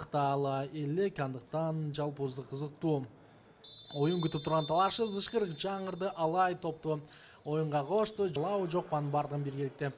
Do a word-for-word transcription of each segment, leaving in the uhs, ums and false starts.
аныктала элек, андыктан жалпоздук кызыктуу оюн күтүп турган талашы зышкырык жаңырды. Алай топту оюнга кошту. Жалабы жок, анын бардыгын биргеликте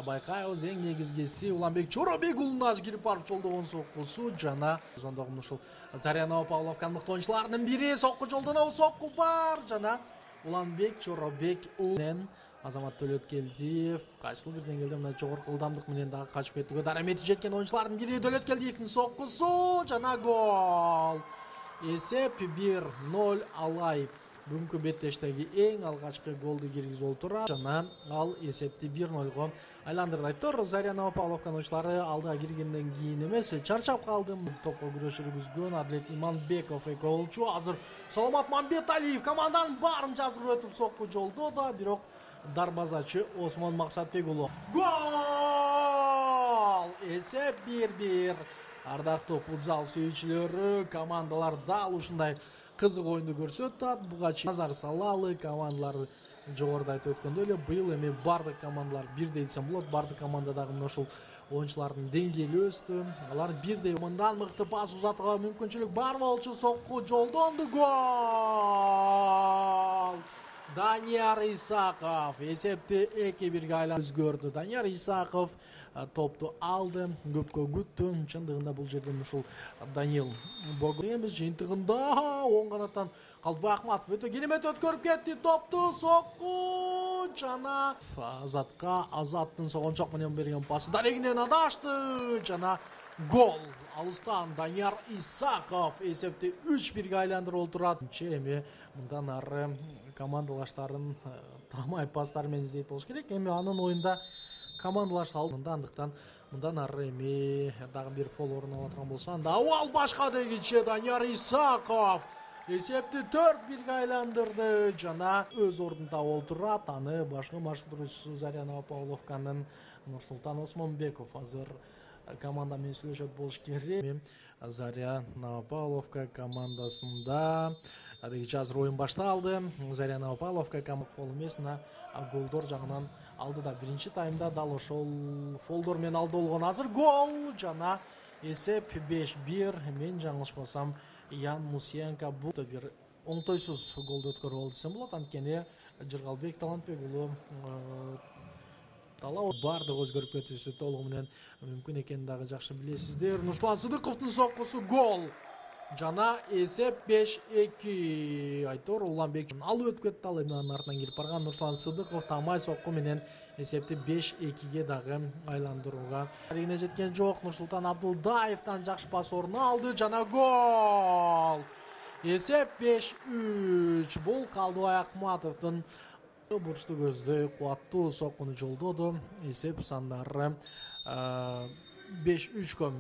байкайбыз. Эң негизгиси Уланбек Чоробек уулуна кирип барып жолдогон соккусу жана сондогу ушул Заря Новопавловканын мыкты оюнчуларынын бири. Сокку жолдоно, сокку бар жана Уланбек Чоробек уулунен Азамат Төлөткелдиев качылып бирден келди. Мына жогорку ылдамдык менен дагы качып кетүүгө дарамети жеткен оюнчулардын бири Төлөткелдиевдин соккусу жана гол. Эсеп бир ноль. Алай бүгүнкү беттештеги эң алгачкы голду киргизип отурат жана ал эсепти бир нольго айландырды. Айтор Заря Новопавловканын оюнчулары алдыга киргенден кийин эмес, чарчап калды. Топко күрөш жүргүзгөн Адлет Иманбеков голчу. Азыр Саламат Мамбеталиев команданын баарын жазып өтүп сокку жолдоду, бирок дарбазачы Осмон Максатбек уулу. Гол! Эсеп бир бир. Ардактуу футзал сүйүүчүлөрү, командалар дал ушундай кызык оюнду көрсөтөт. Буга чейин назар салалы, командалар жогоруда айтып өткөндөй эле быйыл эми бардык командалар бирдей десем болот. Бардык командадагы мына ушул оюнчулардын деңгээли өстү. Алар бирдей мындан мыкты пас узатууга мүмкүнчүлүк бар болчу. Сокку жолдонду. Гол! Данияр Исаков эсепти эки бирге айланып өзгөрдү. Данияр Исаков топту алды, көпкө күттү. Чындыгында бул жерден ушул Данил Богоемис жыйынтыгында оң канаттан Калдыбай Акматов өтө керемет өткөрүп кетти топту. Сокку жана Азатка. Азаттын согончок менен берген пасы дарегинен адашты жана гол. Алыстан Данияр Исаков эсепти үч бирге айландырып отурат. Эми мындан ары командалаштарын тамай пастар менен издейт болуш керек. Эми анын оюнда командалаш салды. Андыктан мындан ары эми дагы бир фол орун алып аткан болсо, анда абал башка дегиче Данияр Исаков эсепти төрт бирге айландырды жана өз ордун таап отурат. Аны башкы маршрутчусу Заря Новопавловканын Нурсултан Осмонбеков азыр команда менен сүйлөшөт болуш керек. Заря Новопавловка командасында адегиче азыр оюн башталды. Заря Новопавловка команда фол эмес, мына голдор жагынан алдыда. Биринчи таймда дал ошол фолдор менен алды болгон. Азыр гол жана эсеп беш бир. Мен жаңылышпасам Ян Мусиенко бул бир оңтойсуз голду өткөрүп алды десем болот. Анткени Жыргалбек Талантбек уулу талап бардык өзгөрүп кетүүсү толугу менен мүмкүн экенин дагы жакшы билесиздер. Нурсулан Сыдыковдун соккусу гол жана эсеп беш эки. Айтор Уланбек алып өтүп кетти. Ал эми анын артынан кирип барган Нурсулан Сыдыков тамай сокку менен эсепти беш экиге дагы айландырууга арегине жеткен жок. Нурсултан Абдулдаевден жакшы пас орун алды жана гол. Эсеп беш үч. Бул Калдыбай Акматовдун бурчтуу көздөй кубаттуу соккуну жолдоду. Эсеп сандары беш үчкө.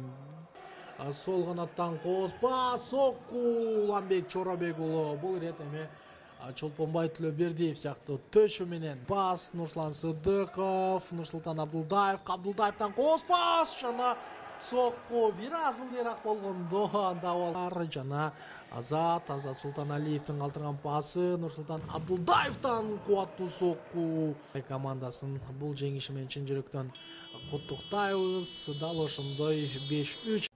Сол канаттан кооспа сокку Уланбек Чоробек уулу. Бул ирет эми Чолпонбай Төлөбердиев сыяктуу төшү менен пас. Нурсулан Сыдыков, Нурсултан Абдулдаев, Абдулдаевден кооспа жана сокку. Бир аз ылдыйраак болгондо анда бар жана Азат, Азат Султаналиевдин калтырган пасы. Нурсултан Абдулдаевден кубаттуу сокку. Командасын бул жеңиши менен чын жүрөктөн куттуктайбыз. Дал ошондой беш үч